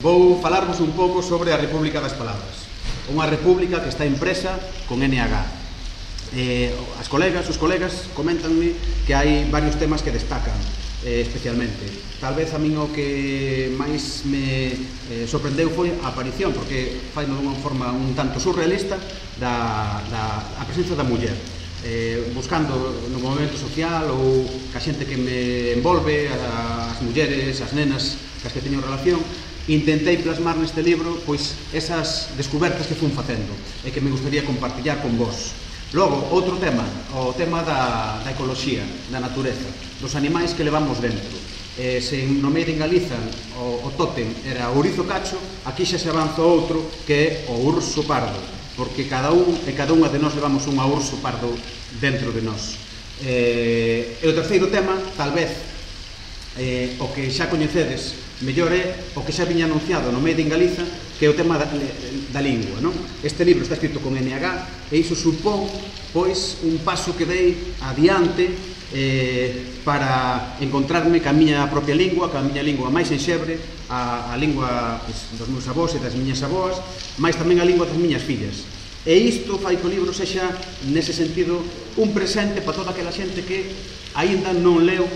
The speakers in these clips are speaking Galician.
Vou falarvos un pouco sobre a República das Palabras. Unha república que está impresa con NH. Os colegas comentanme que hai varios temas que destacan especialmente. Tal vez a min o que máis me sorprendeu foi a aparición, porque fai dunha forma un tanto surrealista a presencia da muller, buscando no movimento social ou ca xente que me envolve, as mulleres, as nenas cas que teño relación. Intentei plasmar neste libro pois esas descubertas que fun facendo e que me gustaría compartillar con vos. Logo, outro tema, o tema da ecoloxía, da natureza, dos animais que levamos dentro. Se no medio en Galiza o tótem era o ourizo cacho, aquí xa se avanza outro que é o urso pardo, porque cada un e cada unha de nós levamos un urso pardo dentro de nós. E o terceiro tema, tal vez, o que xa coñecedes mellor é o que xa viña anunciado no medio en Galiza, que é o tema da lingua, non? Este libro está escrito con NH e iso supón, pois, un paso que dei adiante para encontrarme ca miña propia lingua, ca miña lingua máis enxebre, a lingua dos meus avós e das miñas avoas, máis tamén a lingua das miñas fillas. E isto fai que o libro sexa, nese sentido, un presente para toda aquela xente que aínda non leu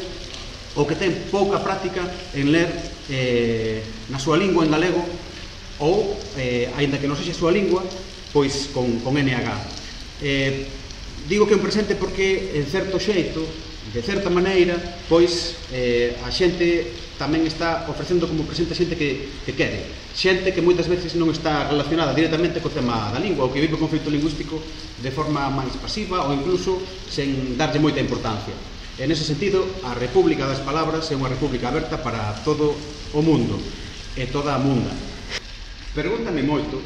ou que ten pouca práctica en ler na súa lingua en galego ou, aínda que non sexa a súa lingua, pois con NH. Digo que é un presente porque, en certo xeito, de certa maneira, pois a xente tamén está ofrecendo como presente a xente que quere. Xente que moitas veces non está relacionada directamente co tema da lingua ou que vive o conflito lingüístico de forma máis pasiva ou incluso sen darlle moita importancia. En ese sentido, a República das Palabras é unha república aberta para todo o mundo e toda a munda. Pregúntame moito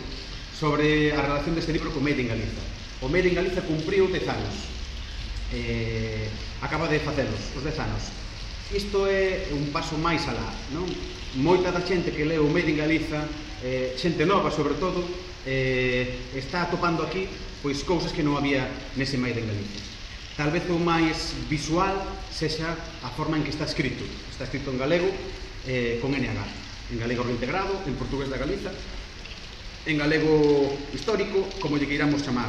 sobre a relación deste libro con Made in Galiza. O Made in Galiza cumpriu 10 anos. Acaba de facelos, os 10 anos. Isto é un paso máis alá, non? Moita da xente que leu o Made in Galiza, xente nova sobre todo, está atopando aquí pois cousas que non había nese Made in Galiza. Tal vez o máis visual sexa a forma en que está escrito. Está escrito en galego con NH. En galego reintegrado, en portugués da Galiza, en galego histórico, como lle queiramos chamar.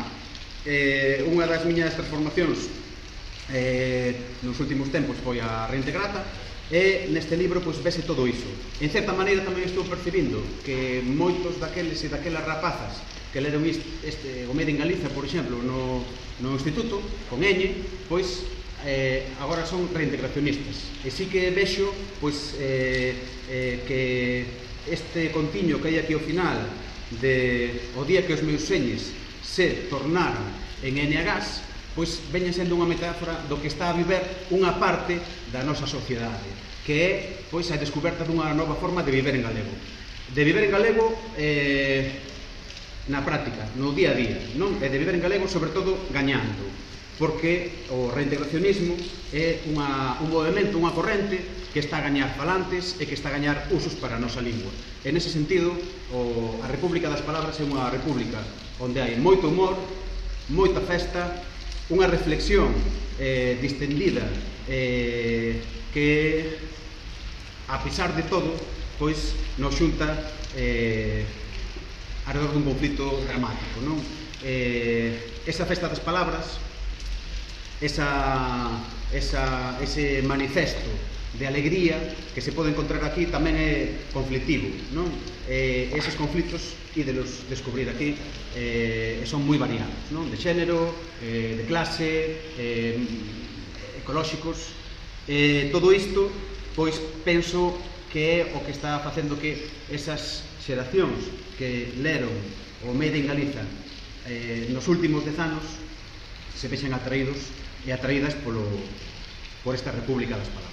Unha das miñas transformacións nos últimos tempos foi a reintegrata e neste libro pois vese todo iso. En certa maneira tamén estou percibindo que moitos daqueles e daquelas rapazas que leron o Made in Galiza, por exemplo, no instituto, con Ñ, pois agora son reintegracionistas. E sí que vexo pois que este contiño que hai aquí ao final o día que os meus señes se tornaron en NH, pois veñen sendo unha metáfora do que está a viver unha parte da nosa sociedade, que é pois a descoberta dunha nova forma de viver en galego. De viver en galego na práctica, no día a día, non? E de viver en galego, sobre todo, gañando, porque o reintegracionismo é un movimento, unha corrente que está a gañar falantes e que está a gañar usos para a nosa lingua. En ese sentido, a República das Palabras é unha república onde hai moito humor, moita festa, unha reflexión distendida que, a pesar de todo, pois nos xunta alrededor dun conflito dramático, non? Esa festa das palabras, ese manifesto de alegría que se pode encontrar aquí tamén é conflictivo, non? Eses conflitos ídelos descubrir aquí son moi variados, non? De xénero, de clase, ecolóxicos. Todo isto, pois, penso que é o que está facendo que esas xeracións que leron o Made in Galiza nos últimos 10 anos se vexen atraídos e atraídas por esta República das Palabras.